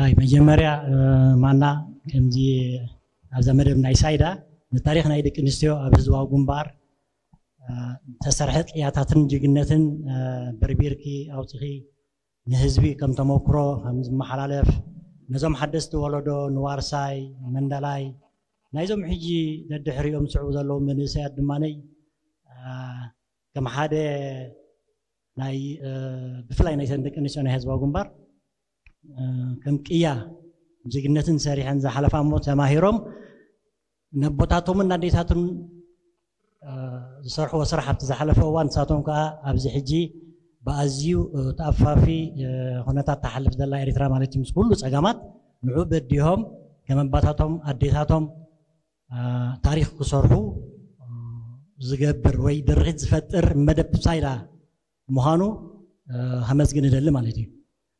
ኣይ መጀመርያ ማና ከምዚ ኣብዛ መደብ ናይ ሳይዳ ንታሪኽ ናይ ደቂ ኣንስትዮ ኣብ ህዝባዊ ግንባር ዝተሰርሐ ቅያታትን ጅግነትን በርቢርኪ ኣውፅኺ ንህዝቢ ከም ተመክሮ ከም ዝመሓላለፍ ነዞም ሓደስቲ ወለዶ ንዋርሳይ መንደላይ ናይዞም ሕጂ ደድሕሪኦም ዝስዕቡ ዘለዉ መንእሰያት ድማነይ ከም ሓደ ናይ ብፍላይ ናይ ደቂ ኣንስትዮ ናይ ህዝባዊ ግንባር ከም ቅያ ጅግነትን ሰሪሐን ዝሓለፋ እሞ ተማሂሮም ነቦታቶምን ኣዴታትን ዝሰርሕዎ ስራሕ ኣብቲ ዝሓለፈ እዋን ንሳቶም ከዓ ኣብዚ ሕጂ ብኣዝዩ ተኣፋፊ ኩነታት ተሓልፍ ዘላ ኤርትራ ማለት እዩ ምስ ኩሉ ፀገማት ንዑ በዲሆም ከም ኣባታቶም ኣዴታቶም ታሪኽ ክሰርሑ ዝገብር ወይ ድርኺት ዝፈጥር መደብ ሳይዳ ምዃኑ ከመስግን እደሊ ማለት እዩ።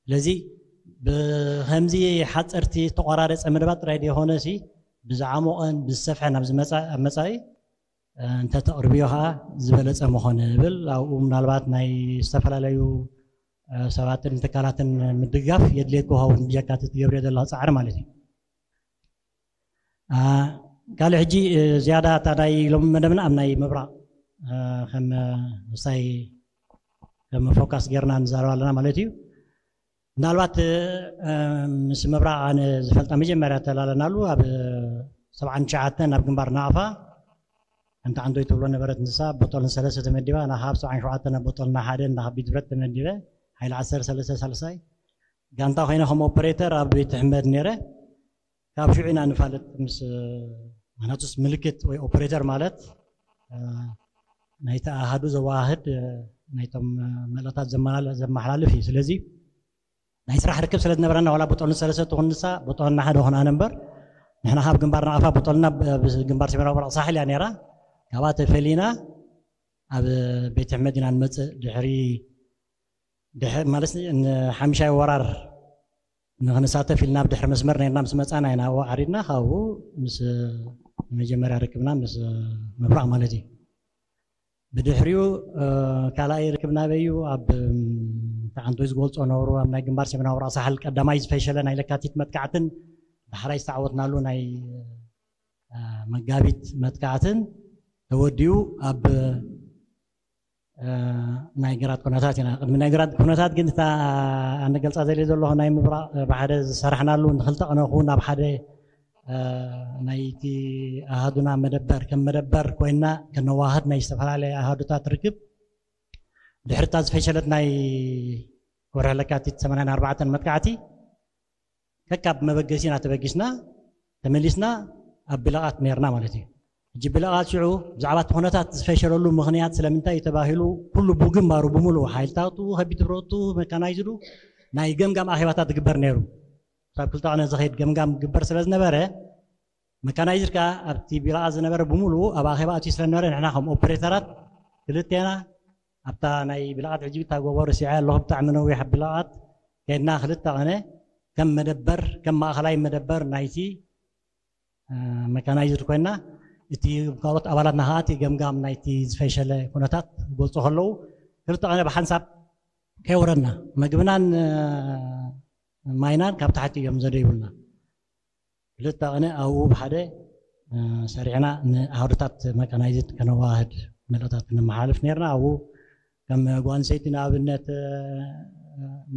ስለዚ ብከምዚ ሓፀርቲ ዝተቆራረፀ መደባት ጥራይ ዘይኮነ ሲ ብዝዓሞቐን ብዝሰፍሐን ኣብ ዝመፃ- ኣብ መፃኢ እንተተቕርብዮ ከዓ ዝበለፀ ምኾነ እብል። ኣብኡ ምናልባት ናይ ዝተፈላለዩ ሰባትን ትካላትን ምድጋፍ የድልየት ክኸውን ብጀካ እቲ ትገብርዮ ዘለኻ ፃዕሪ ማለት እዩ። ካልእ ሕጂ ዝያዳ እታ ናይ ሎሚ መደብና ኣብ ናይ ምብራቕ ከም ምሳይ ከም ፎካስ ጌርና ንዛረብ ኣለና ማለት እዩ። ምናልባት ምስ ምብራቕ ኣነ ዝፈልጣ መጀመርያ ተላለናሉ ኣብ ሰብዓን ትሽዓተን ኣብ ግንባር ናቕፋ ከምቲ ዓንዶይ ትብሎ ነበረት ንሳ ቦጦልን ሰለስተ ተመዲባ ናኻ ኣብ ሰብዓን ሸውዓተን ኣብ ቦጦልና ሓደ እንዳ ከቢድ ብረት ተመዲበ ሓይሊ ዓሰርተ ሰለስተ ሳልሳይ ጋንታ ኮይነ ከም ኦፐሬተር ኣብ ቤት ሕመድ ነይረ ካብ ሽዑ ኢና ንፋለጥ ምስ ማናቱስ ምልክት ወይ ኦፐሬተር ማለት ናይቲ ኣሃዱ ዘዋህድ ናይቶም መልእኽታት ዘመሓላልፍ እዩ ስለዚ ናይ ስራሕ ርክብ ስለ ዝነበረና ዋላ ቦጦልን ሰለስተ ትኹን ንሳ ቦጦልና ሓደ ኾና ነበር ንሕና ካብ ግንባር ናቕፋ ቦጦልና ግንባር ሰሜናዊ ምብራቕ ሳሕል እያ ነይራ ካብኣ ተፈሊና ኣብ ቤት ሕመድ ኢና ንመፅእ ድሕሪ ማለት ንሓምሻይ ወራር ንክንሳተፍ ኢልና ኣብ ድሕሪ መስመር ነርና ምስ መፃና ኢና ኣብኡ ዓሪድና ካብኡ ምስ መጀመርያ ርክብና ምስ ምብራቕ ማለት እዩ ብድሕሪኡ ካልኣይ ርክብ ናበይ እዩ ኣብ ተዓንቶይ ዝገልፆ ነብሩ ኣብ ናይ ግንባር ሰሜናዊ ምብራቕ ሳሕል ቀዳማይ ዝፈሸለ ናይ ለካቲት መጥቃዕትን ዳሕራይ ዝተዓወትናሉ ናይ መጋቢት መጥቃዕትን ተወዲኡ ኣብ ናይ ግራት ኩነታት ኢና ቅድሚ ናይ ግራት ኩነታት ግን እታ ኣነገልፃ ዘለ ዘለኹ ናይ ምብራቕ ብሓደ ዝሰራሕናሉ ንክልተ ቅነ ክውን ኣብ ሓደ ናይቲ ኣሃዱና መደበር ከም መደበር ኮይና ከነዋህድ ናይ ዝተፈላለየ ኣሃዱታት ርክብ ድሕርታ ዝፈሸለት ናይ ወርሒ ለካቲት ሰማንያን ኣርባዕተን መጥቃዕቲ ከካብ መበገሲና ተበጊስና ተመሊስና ኣብ ብለቓት ነርና ማለት እዩ ሕጂ ብለቓት ሽዑ ብዛዕባ እቲ ኩነታት ዝፈሸለሉ ምኽንያት ስለምንታይ እዩ ተባሂሉ ኩሉ ብግንባሩ ብምሉእ ሓይልታቱ ከቢድ ብረቱ መካናይዝዱ ናይ ገምጋም ኣኼባታት ዝግበር ነይሩ ካብ ክልተ ቅነ ዝኸይድ ገምጋም ዝግበር ስለ ዝነበረ መካናይዝድ ከዓ ኣብቲ ቢላቓ ዝነበረ ብምሉኡ ኣብ ኣኼባ ኣትዩ ስለነበረ ንሕና ከም ኦፕሬተራት ክልቴና ኣብታ ናይ ቢላቓት ሕጂ እታ ጎቦ ርሲዐ ኣለኹ ብጣዕሚ ነዊሕ ቢላቓት ከድና ክልተ ቀነ ከም መደበር ከም ማእኸላይ መደበር ናይቲ መካናይዝድ ኮይና እቲ ካልኦት ኣባላትና ከዓ እቲ ገምጋም ናይቲ ዝፈሸለ ኩነታት ክገልፁ ከለዉ ክልተ ቀነ ብሓንሳብ ከይወረድና መግብናን ማይናን ካብ ታሕቲ እዮም ዘደይቡልና ክልተ ቅነ ኣብኡ ብሓደ ሰሪሕና ንኣህዱታት መካናይዝድ ከነዋህድ መልእታት ክነመሓላልፍ ነርና ኣብኡ ከም ጓንሰይቲ ንኣብነት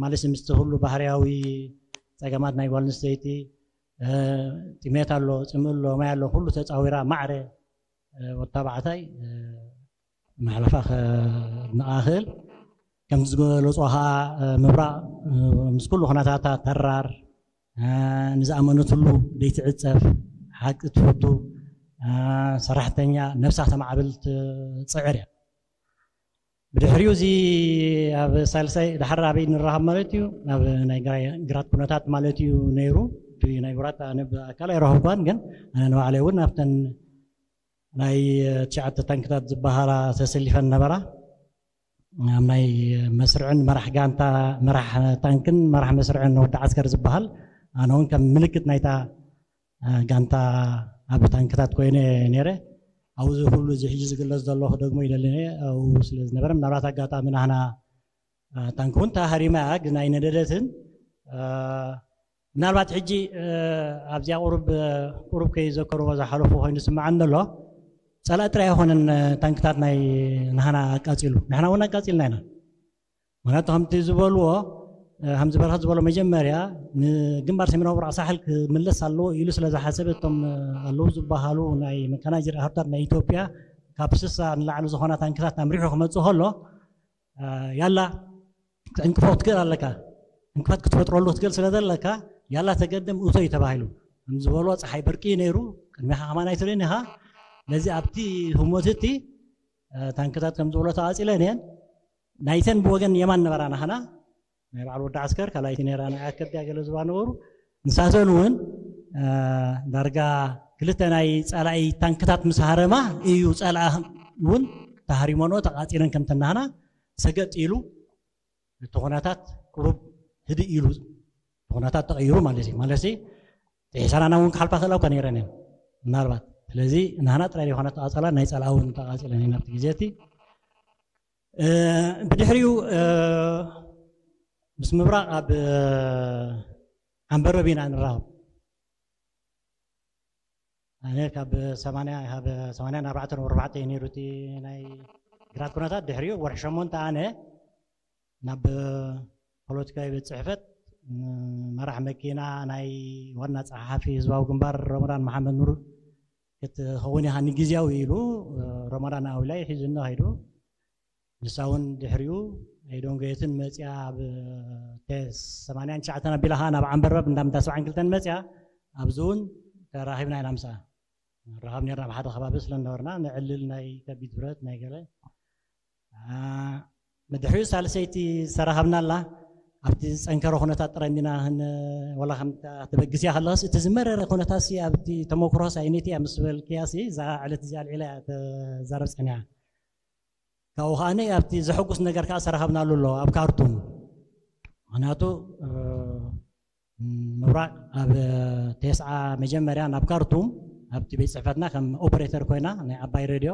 ማለት ምስቲ ኩሉ ባህርያዊ ፀገማት ናይ ጓል ኣንስተይቲ ጥሜት ኣሎ ፅምእ ኣሎ ማይ ኣሎ ኩሉ ተፃዊራ ማዕረ ወታባዕታይ መሕለፋ ከድንቓ ክእል ከምቲ ዝገለፆ ከዓ ምብራቕ ምስ ኩሉ ኩነታታ ተራር ንዝኣመነትሉ ደይትዕፀፍ ሓቂ ትፈቱ ሰራሕተኛ ነብሳ ተማዕብል ትፅዕር እያ ብድሕሪኡ እዚ ኣብ ሳልሳይ ድሓር ኣበይ ንራኸብ ማለት እዩ ኣብ ናይ ግራት ኩነታት ማለት እዩ ነይሩ ናይ ግራት ኣነ ብኣካል ኣይረኸብኳን ግን ኣነ ንባዕለይ እውን ኣብተን ናይ ትሽዓተ ታንክታት ዝበሃላ ተሰሊፈን ነበራ ኣብ ናይ መስርዕን መራሕ ጋንታ መራሕ ታንክን መራሕ መስርዕን ወዲ ዓስከር ዝበሃል ኣነ እውን ከም ምልክት ናይታ ጋንታ ኣብ ታንክታት ኮይነ ነይረ ኣብዚ ኩሉ እዚ ሕጂ ዝግለጽ ዘለኹ ደግሞ ይደሊ ኣብኡ ስለ ዝነበረ ምናልባት ኣጋጣሚ ናህና ታንክ እውን ተሃሪማ እያ ግን ኣይነደደትን ምናልባት ሕጂ ኣብዚኣ ቁሩብ ቁሩብ ከይዘከርዎ ዝሓለፉ ኮይኑ ዝስምዓኒ ዘሎ፣ ጸላኢ ጥራይ ኣይኮነን ታንክታት ናይ ናህና ኣቃጺሉ፣ ንሕና እውን ኣቃጺልና ኢና። ምክንያቱ ከምቲ ዝበልዎ፣ ከምዚ በረኸት ዝበሎ፣ መጀመርያ ንግንባር ሰሜናዊ ምብራቕ ሳሕል ክምለስ ኣለዎ ኢሉ ስለ ዝሓሰበ፣ እቶም ኣለዉ ዝበሃሉ ናይ መካናይዝድ ኣህርታት ናይ ኢትዮጵያ ካብ ስሳ ንላዕሊ ዝኾና ታንክታት ኣምሪሑ ክመጽእ ከሎ፣ ያላ ክትዕንቅፎ ክትክእል ኣለካ፣ እንቅፋት ክትፈጥረሉ ክትክእል ስለ ዘለካ፣ ያላ ተገደም እቶ እዩ ተባሂሉ። ከም ዝበልዎ፣ ፀሓይ በርቂ እዩ ነይሩ፣ ቅድሚኻ ከማን ኣይትርእን ኢኻ። ስለዚ ኣብቲ ህሞት እቲ ታንክታት ከም ዝበሎ ተቓፂለን እየን። ናይተን ብወገን የማን ነበራ ናህና፣ ናይ በዓል ወዲ ዓስከር ካልኣይቲ ነይራ፣ ናይ ኣከብያ ገለ ዝባ ነበሩ። ንሳተን እውን ዳርጋ ክልተ ናይ ፀላኢ ታንክታት ምስ ሃረማ እዩ ፀላኢ እውን ተሃሪመኖ ተቓፂለን ከም ተናህና ሰገጥ ኢሉ እቲ ኩነታት ቁሩብ ህድእ ኢሉ፣ እቲ ኩነታት ተቐይሩ ማለት እዩ። ማለት ጥሒሳና እውን ክሓልፋ ክእላ እኳ ነይረን እየን ምናልባት። ስለዚ ናህና ጥራይ ዘይኮነ ተቓጸላ፣ ናይ ጸላኢ እውን ተቓጺለን እየን ኣብቲ ግዜ እቲ። ብድሕሪኡ ምስ ምብራቕ ኣብ ዓንበረብ ኢና ንራኸብ። ኣነ ካብ ሰማንያ፣ ካብ ሰማንያን ኣርባዕተን ወርባዕተ እዩ ነይሩ እቲ ናይ ግራት ኩነታት። ድሕሪኡ ወርሒ ሸሞንተ ኣነ ናብ ፖለቲካዊ ቤት ጽሕፈት መራሕ መኪና ናይ ዋና ጸሓፊ ህዝባዊ ግንባር ረመዳን መሓመድ ኑር ክትኸውን ኢኻ ንግዝያዊ ኢሉ ረመዳን ኣዊላይ ሒዙኒ ኸይዱ። ንሳ እውን ድሕሪኡ ኣይደንጎየትን መፅያ ኣብ ቴስ ሰማንያን ትሽዓተን ኣቢላ ኸዓ ናብ ዓንበርበብ እንዳምዳ ሰብዓን ክልተን መፅያ። ኣብዚ እውን ተራኺብና ኢና ምስኣ። ንራኸብ ነርና ኣብ ሓደ ከባቢ ስለ ነበርና፣ ንዕልል ናይ ከቢድ ብረት ናይ ገለ። ድሕሪኡ ሳልሰይቲ ዝተራኸብናላ ኣብቲ ዝፀንከረ ኩነታት ጥራይ እንዲና ወላ ከም ተበግስያ ከለስ እቲ ዝመረረ ኩነታት ሲ ኣብቲ ተመክሮ ሳይኒቲ እያ ምስ በልክያ ሲ እዛ ዕለት እዚኣ ኣልዒላ እያ ተዛረብ ፀኒሓ። ካብኡ ከዓኒ ኣብቲ ዘሐጉስ ነገር ከዓ ዝተረኸብናሉ ኣሎ ኣብ ካርቱም። ምክንያቱ ምብራቕ ኣብ ቴስዓ መጀመርያ ናብ ካርቱም ኣብቲ ቤት ፅሕፈትና ከም ኦፕሬተር ኮይና ናይ ዓባይ ሬድዮ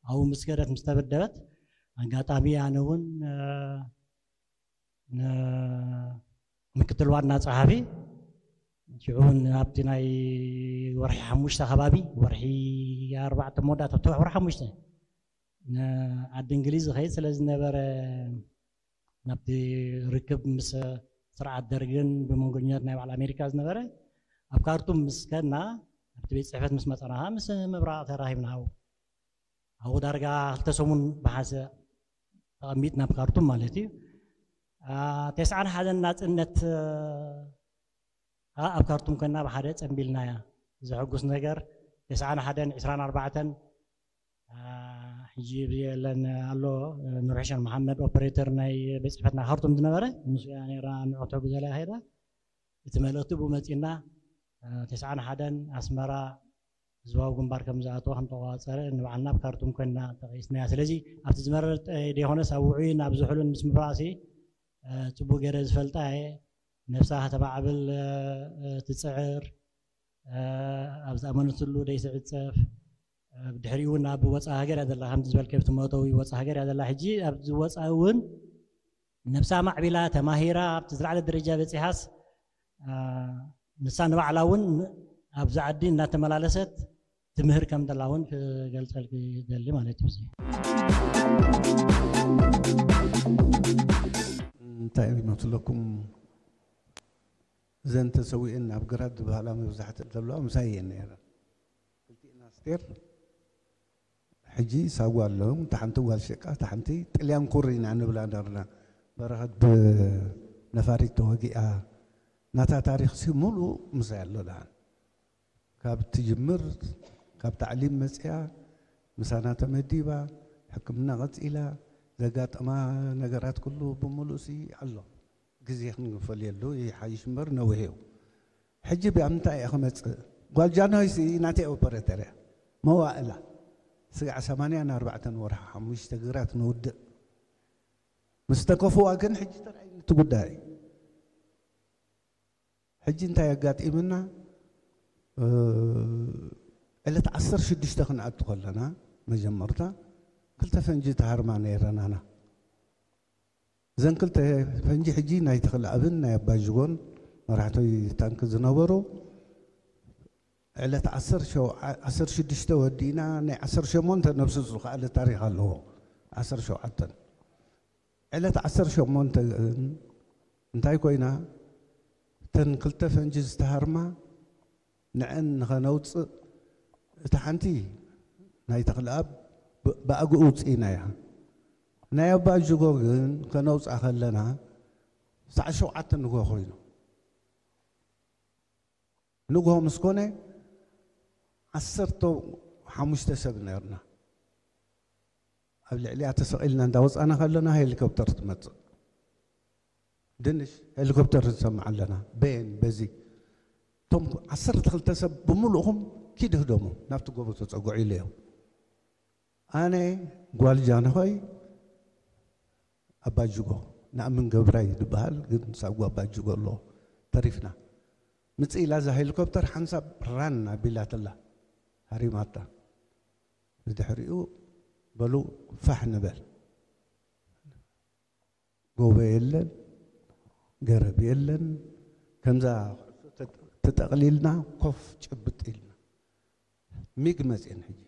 ኣብኡ ምስ ከደት ምስ ተበደበት ኣጋጣሚ ኣነ እውን ምክትል ዋና ጸሓፊ ሽዑ እውን ኣብቲ ናይ ወርሒ ሓሙሽተ ከባቢ፣ ወርሒ ኣርባዕተ መወዳእታ፣ ኣብቲ ወርሒ ሓሙሽተ ንዓዲ እንግሊዝ ዝኸይድ ስለ ዝነበረ ናብቲ ርክብ ምስ ስርዓት ደርግን ብመንጎኛት ናይ በዓል ኣሜሪካ ዝነበረ ኣብ ካርቱም ምስ ከድና ኣብቲ ቤት ጽሕፈት ምስ መጸና ምስ ምብራቕ ተራኺብና ኣብኡ ኣብኡ ዳርጋ ክልተ ሰሙን ብሓንሰ ተቐሚጥና ኣብ ካርቱም ማለት እዩ። ተስዓን ሓደን ናፅነት ኣብ ካርቱም ኮይና ብሓደ ፀንቢልናያ። ዘሐጉስ ነገር ተስዓን ሓደን ዕስራን ኣርባዕተን ሕጂ የለን ኣሎ ኑርሕሸን መሓመድ ኦፐሬተር ናይ ቤት ፅሕፈትና ካርቱም ዝነበረ ምስ እያ ነራ ንዕቶ ብዘላ ሄዳ እቲ መልእክቲ ብኡ መፂና ተስዓን ሓደን ኣስመራ ህዝባዊ ግንባር ከም ዝኣተወ ከም ተቆፃፀረ ንባዕልና ኣብ ካርቱም ኮይና ጠቂስናያ። ስለዚ ኣብቲ ዝመረር ዘይኮነስ ኣብ ውዑይን ኣብ ዝሑልን ምስ ምብራእሲ ፅቡቅ ገይረ ዝፈልጣ እየ። ነብሳ ከተማዕብል ትፅዕር፣ ኣብ ዝኣመነትሉ ደይትዕፀፍ። ብድሕሪኡ እውን ኣብ ወፃኢ ሃገር እያ ዘላ፣ ከምቲ ዝበልከ ኣብቲ መእተዊ ወፃኢ ሃገር እያ ዘላ። ሕጂ ኣብዚ ወፃኢ እውን ነብሳ ማዕቢላ ተማሂራ ኣብቲ ዝለዓለ ደረጃ በፂሓስ ንሳ ንባዕላ እውን ኣብዚ ዓዲ እናተመላለሰት ትምህር ከም ዘላ እውን ክገልፀልኪ ይደሊ ማለት እዩ። እንታይ ይመስለኩም? እዘን ተሰዊእን ኣብ ግራት ዝበሃላ መብዛሕትአን ዘለዋ ምሳይ እየን ነይረን። ክልቲኤን ኣስቴር ሕጂ ሳዋ ኣለዉ። እታ ሓንቲ ጓል ሸቃ፣ እታ ሓንቲ ጥልያን ኩሪ ኢና ንብላ ነርና። በረኸት ብነፋሪት ተወጊኣ። ናታ ታሪኽሲ ሙሉእ ምሳይ ኣሎ ደሓን። ካብ ትጅምር፣ ካብ ታዕሊም መፂኣ፣ ምሳና ተመዲባ፣ ሕክምና ቀፂላ፣ ዘጋጠማ ነገራት ኩሉ ብምሉእሲ ኣሎ። ግዜ ክንፈልየሉ ይሓይሽ እምበር ነዊሕ እዩ። ሕጂ ብኣምንታይ እየ ክመፅእ? ጓል ጃንሆይሲ ናተይ ኦፐሬተር እያ። መዋእላ ስጋዕ ሰማንያን ኣርባዕተን ወርሒ ሓሙሽተ ግራት ንውድእ ምስ ተከፍዋ ግን ሕጂ ተራእዩኒ እቲ ጉዳይ። ሕጂ እንታይ ኣጋጢምና? ዕለት ዓሰርተ ሽዱሽተ ክንኣቱ ከለና መጀመርታ ክልተ ፈንጂ ተሃርማ ነይረናና። እዘን ክልተ ፈንጂ ሕጂ ናይ ተኽለኣብን ናይ ኣባጅጎን መራሕቲ ታንክ ዝነበሩ ዕለት ዓሰርተ ሸውዓተ፣ ዓሰርተ ሽዱሽተ ወዲእና ናይ ዓሰርተ ሸሞንተ ነብሱ ዝኸኣለ ታሪኽ ኣለዎ። ዓሰርተ ሸውዓተ ዕለት ዓሰርተ ሸሞንተ ግን እንታይ ኮይና? እተን ክልተ ፈንጂ ዝተሃርማ ንዐን ንኸነውፅእ እታ ሓንቲ ናይ ተኽለኣብ ብ- ብኣግኡ ውፅኢና እያ። ናይ ኣባ ጅጎ ግን ከነውፅኣ ከለና ሰዓት ሸውዓተ ንግሆ ኮይኑ ንግሆ ምስ ኮነ ዓሰርተ ሓሙሽተ ሰብ ነርና። ኣብ ልዕሊኣ ተሰቒልና እንዳወፃና ከለና ሄሊኮፕተር ትመፅእ። ድንሽ ሄሊኮፕተር ንሰምዕ ኣለና። በየን በዚ እቶም ዓሰርተ ክልተ ሰብ ብምሉእኹም ኪድ ህደሙ ናብቲ ጎቦ ተፀግዑ ኢለዮም። ኣነ ጓል ጃንሆይ ኣባጅጎ ናእምን ገብራይ ዝበሃል ግን ሳጓ ኣባጅጎ ኣሎ ተሪፍና። ምጽእ ኢላ እዛ ሄሊኮፕተር ሓንሳብ ራን ኣቢላትላ ሃሪማታ። ብድሕሪኡ በሉ ፋሕ ንበል። ጎቦ የለን፣ ገረብ የለን። ከምዛ ተጠቕሊልና ኮፍ ጭብጥ ኢልና ሚግ መፅኤን። ሕጂ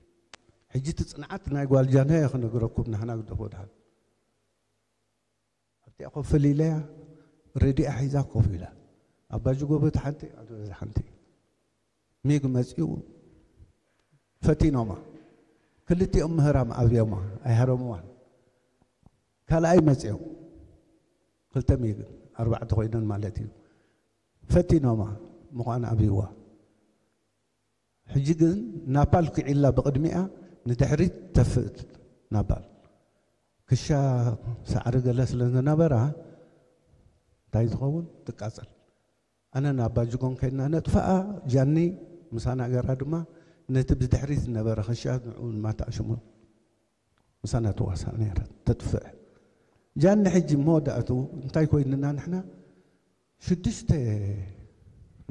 ሕጂ እቲ ፅንዓት ናይ ጓል ጃንሆይ ክነግረኩም ናህና ግደፎ ድሓን ኣብቲኣ ኮፍ ኢለያ ሬድያ ሒዛ ኮፍ ኢላ ኣባጅጎ በቲ ሓንቲ ኣነ በዚ ሓንቲ ሚግ መፂኡ ፈቲኖማ። ክልቲኦም ምህራም ኣብዮማ ኣይሃረምዋን። ካልኣይ መፂኦም ክልተ ሚግ ኣርባዕተ ኮይነን ማለት እዩ ፈቲኖማ ምዃን ኣብይዋ። ሕጂ ግን ናፓል ኪዒላ ብቕድሚኣ ንድሕሪት ተፍእት ናፓል ክሻ ሳዕሪ ገለ ስለ ዝነበራ እንታይ ትኸውን ትቃጸል። ኣነ ናብ ባጅጎን ከይድና ነጥፍኣ። ጃኒ ምሳና ገራ ድማ ነቲ ብድሕሪት ዝነበረ ክሻ ንዑ ማታሽሙ ምሳና ትዋሳእ ነይራ ተጥፍእ። ጃኒ ሕጂ መወዳእቱ እንታይ ኮይንና ንሕና ሽዱሽተ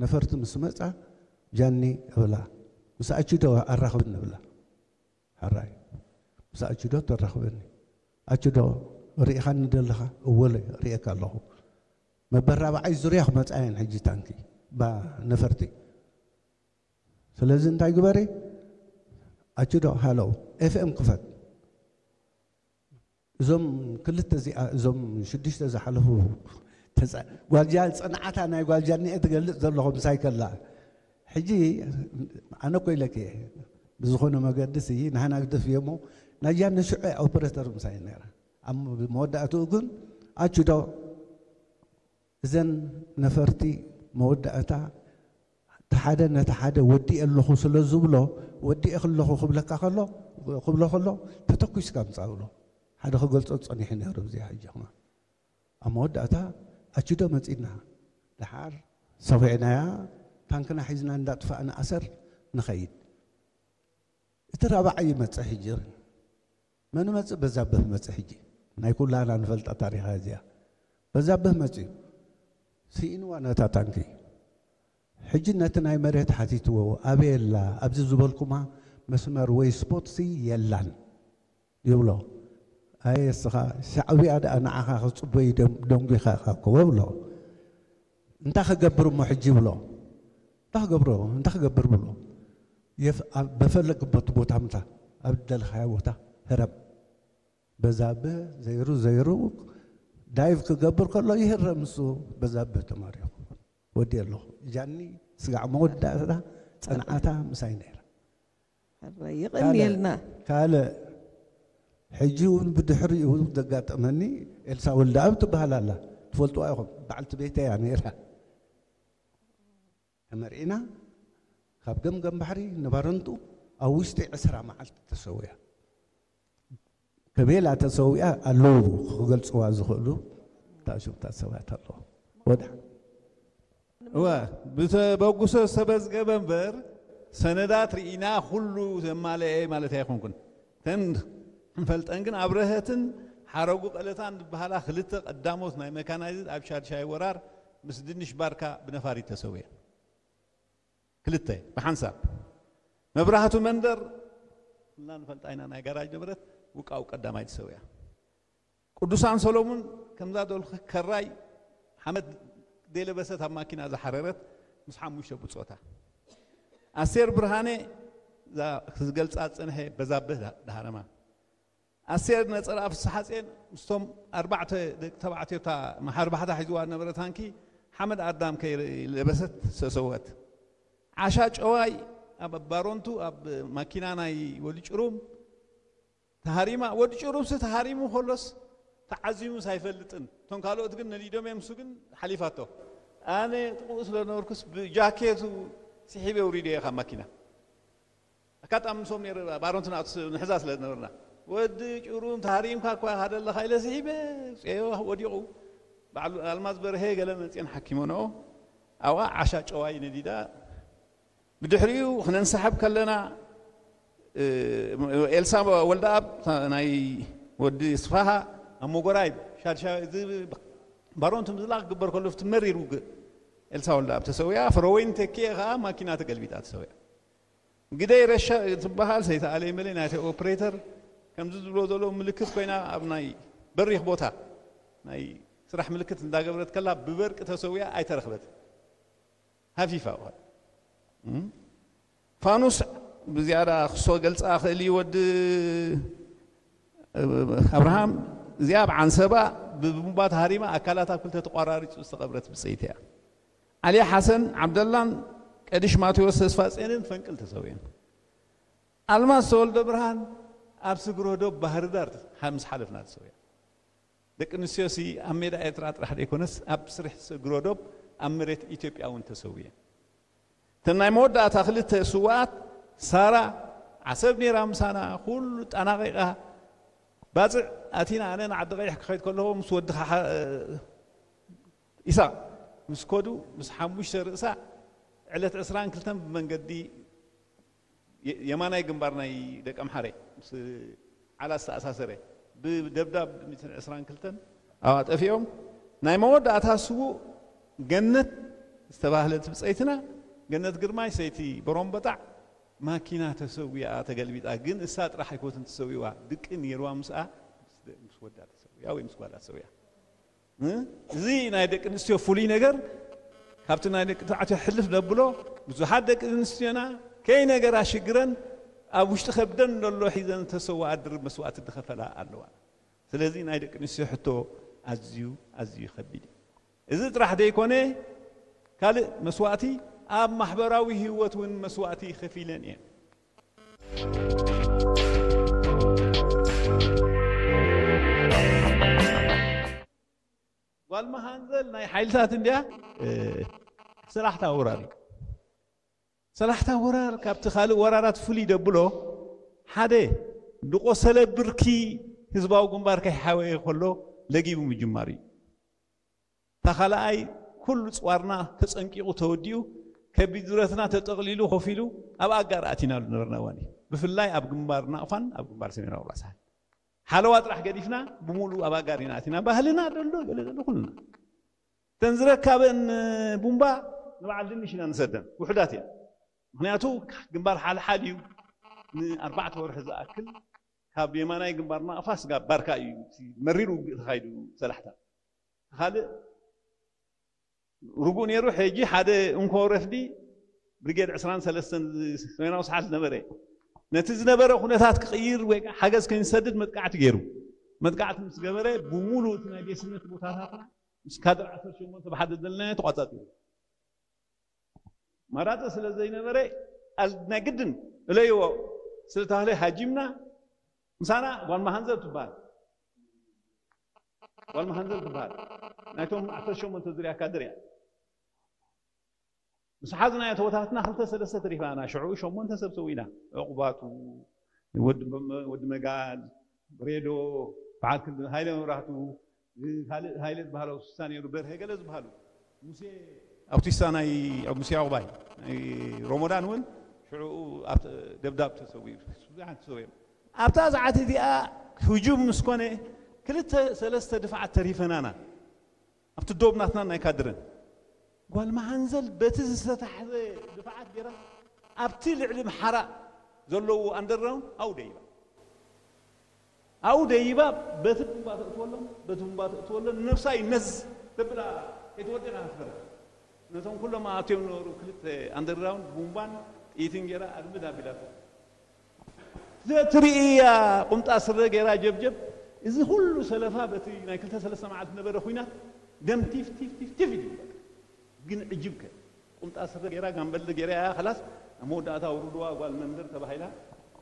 ነፈርቲ ምስ መጻ ጃኒ እብላ ምስ ኣችዶ ኣራኽብኒ እብላ። ሕራይ ምስ ኣችዶ ተራኽበኒ። ኣችዶ ርኢኻኒ ደለኻ? እወለ ርኤካ ኣለኹ። መበራብዓይ ዙርያ ክመጻ እየን ሕጂ ታንኪ ባ ነፈርቲ። ስለዚ እንታይ ግበሪ ኣችዶ ሃለው ኤፍኤም ክፈት። እዞም ክልተ እዚኣ እዞም ሽዱሽተ ዝሓለፉ ተፃ- ጓልጃ ፅንዓታ ናይ ጓልጃ እኒአ ትገልፅ ዘለኹ ምሳይ ከላ ሕጂ ኣነ እኮ ኢለኪ እየ። ብዝኾነ መገዲ ሲ ናህና ግደፍ እየ እሞ ናይጃ ንሽዑ ኦፕሬተር ምሳይ ነራ ኣብ መወዳእትኡ ግን ኣችዶ እዘን ነፈርቲ መወዳእታ እቲ ሓደ ነቲ ሓደ ወዲኤ ኣለኹ ስለ ዝብሎ ወዲኤ ከለኹ ክብለካ ከሎ ክብሎ ከሎ ተተኩስካ ምፃእ ብሎ ሓደ ክገልፆ ፀኒሑ ነይሩ። እዚ ሕጂ ኹማ ኣብ መወዳእታ ኣችዶ መፂና ደሓር ሰኺዕናያ ታንክና ሒዝና እንዳጥፋእና ኣሰር ንኸይድ። እቲ ራብዓይ ይመፅእ ሕጂ መን መፅእ? በዛብህ መፅእ። ሕጂ ናይ ኩላና ንፈልጣ ታሪኻ እዚኣ በዛብህ መፅኡ ስኢንዋ ነታ ታንኪ። ሕጂ ነቲ ናይ መሬት ሓቲትዎ ኣበይ ኣላ ኣብዚ ዝበልኩማ መስመር ወይ ስፖትሲ የላን ይብሎ። ኣየ እስኻ ሻዕብያ ደኣ ንዓኻ ክፅበዩ ደም- ደንጒኻ ኢኻ እኮ ብሎ። እንታይ ክገብር እሞ ሕጂ ይብሎ። እንታይ ክገብሮ እንታይ ክገብር ብሎ። የፍ- ኣብ- በፈለግበት ቦታ ምታ ኣብ ዝደለኻዮ ቦታ ህረም። በዛብህ ዘይሩ ዘይሩ ዳይቭ ክገብር ከሎ ይህረም እሱ። በዛብህ ተማሪኹ ወዲ ኣለኹ ጃኒ ስጋዕ መወዳእታ ፅንዓታ ምሳይ ነይራ። ሕራይ የቐንየልና። ካልእ ሕጂ እውን ብድሕሪኡ ዘጋጠመኒ ኤልሳ ወልደኣብ ትበሃል ኣላ። ትፈልጥዋ ኢኹም። በዓልቲ ቤተይ እያ ነይራ። ተመርዒና ካብ ገምገም ባሕሪ ንባረንቱ ኣብ ውሽጢ ዕስራ መዓልቲ ተሰውያ። ከቤላ ተሰዊኣ ኣለዉ ክገልፅዋ ዝኽእሉ ታሽብታት ሰባት ኣለዉ። ወድሓ እወ ብተበጉሶ ዝተመዝገበ እምበር ሰነዳት ርኢና ኩሉ ዘማለአ ማለት ኣይኮንኩን። ተን ንፈልጠን ግን ኣብረሀትን ሓረጉ ቀለታን ዝበሃላ ክልተ ቀዳሞት ናይ መካናይዝድ ኣብ ሻድሻይ ወራር ምስ ድንሽ ባርካ ብነፋሪት ተሰውየን። ክልተ ብሓንሳብ መብራህቱ መንደር ኩልና ንፈልጣ ኢና ናይ ጋራጅ ንብረት ውቃው ቀዳማይ ተሰውያ። ቅዱሳን ሰሎሙን ከምዛ ደልኩ ከራይ ሓመድ ዘይለበሰት ኣብ ማኪና ዝሓረረት ምስ ሓሙሽተ ብጾታ። ኣስቴር ብርሃነ እዛ ክዝገልጻ ዝጸንሐ በዛብህ ዳ- ዳህረማ። ኣስቴር ነጸላ ፍስሓጼን ምስቶም ኣርባዕተ ደቂ ተባዕትዮ እታ መሓርባሕታ ሒዝዋ ዝነበረ ታንኪ ሓመድ ኣዳም ከይለበሰት ዝተሰወት። ዓሻ ጨዋይ ኣብ ባሮንቱ ኣብ ማኪና ናይ ወዲ ጭሩም ተሃሪማ። ወዲ ጭሩምሲ ተሃሪሙ ከሎስ ተዓዚሙስ ኣይፈልጥን። እቶም ካልኦት ግን ነዲዶም እዮም፣ እሱ ግን ሓሊፋቶ። ኣነ ጥቕኡ ስለ ነበርኩስ ብጃኬቱ ስሒበ ውሪደ እየ ካብ ማኪና። ኣጋጣሚ ምስኦም ነይረ፣ ባሮንትና ንሕዛ ስለ ዝነበርና። ወዲ ጭሩም ተሃሪምካ እኳ ሃደለኻ ኢለ ስሒበ፣ ውፅኤዮ ወዲቑ። በዓሉ ኣልማዝ በርሀ ገለ መፅኤን ሓኪሞንኦ። ኣብኣ ዓሻ ጨዋይ ነዲዳ። ብድሕሪኡ ክነንሰሓብ ከለና፣ እ፣ ኤልሳ ወልደኣብ፣ እታ ናይ ወዲ ስፋሃ ኣብ መጎራይ ሻድሻ፣ እዚ ባሮንቱ ምዝላቕ ክግበር ከሎ፣ እቲ መሪር ውግእ ኤልሳ ወልደኣብ ተሰዊኣ፣ ፍረወይን ተኪኤ ከኣ ማኪና ተገልቢጣ ተሰዊኣ። ግደይ ረሻ ትበሃል ሰይተ ኣለይ መለይ ናይቲ ኦፕሬተር ከምዚ ዝብሎ ዘሎ ምልክት ኮይና ኣብ ናይ በሪኽ ቦታ ናይ ስራሕ ምልክት እንዳገበረት ከላ ብበርቂ ተሰዊኣ ኣይተረኽበት። ሃፊፋ ውሃ። እም? ፋኑስ ብዝያዳ ክሶ ገልጻ ክእል እዩ ወዲ ኣብርሃም። እዚኣ ኣብ ዓንሰባ ብቡምባ ተሃሪማ ኣካላታ ክልተ ተቋራሪጹ ዝተቐብረት ብጸይቲ እያ። ዓሊ ሓሰን ዓብደላን ቀዲሽ ማቴዎስ ተስፋጼንን ፈንቅል ተሰዊኦም። ኣልማዝ ተወልደ ብርሃን ኣብ ስግረ ዶብ ባህር ዳር ምስ ሓለፍና ተሰዊኦም። ደቂ ኣንስትዮሲ ኣብ ሜዳ ኤርትራ ጥራሕ ዘይኮነስ ኣብ ስርሕ ስግረ ዶብ ኣብ መሬት ኢትዮጵያ እውን ተሰዊኤን። እተን ናይ መወዳእታ ክልተ ስውኣት ሳራ ዓሰብ ነይራ ምሳና፣ ኩሉ ጠናቒቓ። ባጽዕ ኣቲና፣ ኣነ ንዓዲ ቀይሕ ክኸይድ ከለኹ ምስ ወድኻ ሓ- ኢሳቕ ምስ ከዱ፣ ምስ ሓሙሽተ ርእሳ ዕለት ዕስራን ክልተን ብመንገዲ የ- የማናይ ግንባር ናይ ደቂ ኣምሓረ ምስ ዓላ ዝተኣሳሰረ ብደብዳብ ሚእትን ዕስራን ክልተን ኣብኣ ጠፊኦም። ናይ መወዳእታ ስዉእ ገነት ዝተባህለት ብጸይትና፣ ገነት ግርማይ ሰይቲ በሮምበጣዕ፣ ማኪና ተሰዊኣ ተገልቢጣ። ግን እሳ ጥራሕ ኣይኮነትን ተሰዊዋ፣ ድቂ ነይርዋ ምስኣ፣ ምስ ደ- ምስ ወዳ ተሰዊኣ ወይ ምስ ጓላ ተሰዊኣ። እ? እዚ ናይ ደቂ ኣንስትዮ ፍሉይ ነገር ካብቲ ናይ ደቂ ተባዕትዮ ሕልፍ ነብሎ። ብዙሓት ደቂ ኣንስትዮና ከይ ነገር ኣሽግረን ኣብ ውሽጢ ከብደን ዘሎ ሒዘን ተሰዋኣ ድርብ መስዋእቲ ዝኸፈላ ኣለዋ። ስለዚ ናይ ደቂ ኣንስትዮ ሕቶ ኣዝዩ ኣዝዩ ከቢድ እዩ። እዚ ጥራሕ ዘይኮነ ካልእ መስዋእቲ ኣብ ማሕበራዊ ህይወት እውን መስዋእቲ ከፊለን እየን። ጓል መሃንዘል ናይ ሓይልታት እንድያ። እ፣ ሰላሕታ ወራር እዩ። ሰላሕታ ወራር ካብቲ ካልእ ወራራት ፍሉይ ደብሎ ሓደ ዝቆሰለ ብርኪ ህዝባዊ ግንባር ከይሓወየ ከሎ ለጊቡ ምጅማር እዩ። እታ ካልኣይ ኩሉ ጽዋርና ተጸንቂቑ ተወዲኡ ከቢድ ብረትና ተጠቕሊሉ ኮፍ ኢሉ ኣብ ኣጋር ኣቲናሉ ነበርና እዋን እዩ። ብፍላይ ኣብ ግንባር ናቕፋን ኣብ ግንባር ሰሜናዊ ራሳን ሓለዋ ጥራሕ ገዲፍና ብሙሉ ኣብ ኣጋር ኢና ኣቲና። ባህልና ዘሎ ገለ ዘሎ ኩልና እተን ዝረካበን ቡምባ ንበዓል ድንሽ ኢና ንሰደን፣ ውሑዳት እየን። ምክንያቱ ግንባር ሓልሓል እዩ። ንኣርባዕተ ወርሒ ዝኣክል ካብ የማናይ ግንባር ናቕፋ ስጋብ ባርካ እዩ እቲ መሪር ውግእ ተኻይዱ። ሰላሕታ ካልእ ርጉእ ነይሩ። ሕጂ ሓደ እንኮ ረፍዲ ብሪጌድ ዕስራን ሰለስተን ሰሜናዊ ሰሓል ዝነበረ ነቲ ዝነበረ ኩነታት ክቕይር ወይ ከዓ ሓገዝ ከይንሰድድ መጥቃዕቲ ገይሩ። መጥቃዕቲ ምስ ገበረ ብሙሉ እቲ ናይ ቤስነት ቦታታትና ምስ ካድር ዓሰርተ ሸሞንተ ብሓደ ዘለና ተቋጻጺሩ። ማራጺ ስለ ዘይነበረ ኣል- ናይ ግድን እለይዎ ስለ ተባህለ ሃጂምና። ምሳና ጓል መሃንዘል ትበሃል፣ ጓል መሃንዘል ትበሃል፣ ናይቶም ዓሰርተ ሸሞንተ ዙርያ ካድር እያ። ምስ ሓዝና ተወታትና ክልተ ሰለስተ ተሪፋና፣ ሽዑ ሸሞንተ ሰብ ሰዊና። ዕቑባቱ፣ ወዲ መ- ወዲ መጋል፣ ሬዶ፣ በዓል ክልተ ሃይለ መብራህቱ፣ ካልእ ሃይለ ዝበሃሉ ስሳ ነይሩ፣ በርሀ ገለ ዝበሃሉ። ሙሴ ኣውቲስታ ናይ ሙሴ ዕቑባይ ናይ ሮሞዳን እውን ሽዑ ኣብ ደብዳብ ተሰዊኡ። ብዙሓት ተሰዊኦም። ኣብታ ሰዓት እዚኣ ህጁም ምስ ኮነ ክልተ ሰለስተ ድፋዓት ተሪፈናና። ኣብቲ ዶብ ናትና ናይ ካድረን ጓል መሃንዘል በቲ ዝተታሕዘ ድፋዓት ገይራ ኣብቲ ልዕሊ ምሓራ ዘለዉ ኣንደርግራውንድ ኣብኡ ደይባ። ኣብኡ ደይባ በቲ ቡምባ ተእትወሎም፣ በቲ ቡምባ ተእትወሎም፣ ንነብሳ እዩ ነዝ ተብላ። ኣይትወድን ኣፍረ ነቶም ኩሎም ኣትዮም ነበሩ ክልተ ኣንደርግራውንድ ቡምባን ጥይትን ገይራ ኣድምድ ኣቢላቶ። ዘትርእያ ቁምጣ ስረ ገይራ ጀብጀብ፣ እዚ ኩሉ ሰለፋ በቲ ናይ ክልተ ሰለስተ መዓልቲ ነበረ ኩናት ደም ቲፍ ቲፍ ቲፍ ቲፍ እዩ። ግን ዕጅብከ ቁምጣ ስረ ገይራ ጋምበል ገይራ እያ። ከላስ ኣብ መወዳእታ ውርድዋ ጓል መንደር ተባሂላ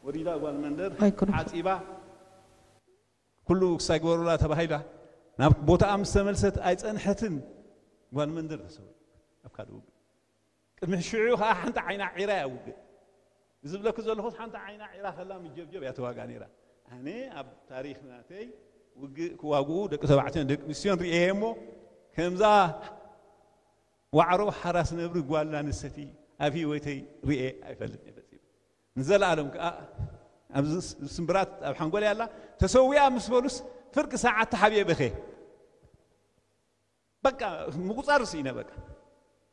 ወሪዳ ጓል መንደር ሓፂባ ኩሉ ክሳይ ግበሩላ ተባሂላ ናብ ቦታኣ ምስ ተመልሰት ኣይፀንሐትን። ጓል መንደር ተሰዊኡ ኣብ ካልእ ውግእ። ቅድሚ ሽዑ ከዓ ሓንቲ ዓይና ዒራ እያ ውግእ። እዚ ዝብለኪ ዘለኹስ ሓንቲ ዓይና ዒራ ከላ ምጀብጀብ እያ ተዋጋ ነይራ። ኣነ ኣብ ታሪኽ ናተይ ውግእ ክዋግኡ ደቂ ተባዕትዮን ደቂ ኣንስትዮን ርእየ እሞ ከምዛ ዋዕሮ ሓራስ ነብሪ ጓል ኣንስተይቲ ኣብ ህይወተይ ርእየ ኣይፈልጥን እየ ፈጺመ። ንዘለኣለም ከዓ ኣብዚ ስምብራት ኣብ ሓንጎለይ ኣላ። ተሰዊኣ ምስ በሉስ ፍርቂ ሰዓት ተሓቢኤ በኸ በቃ ምቁፃር ስኢነ በቃ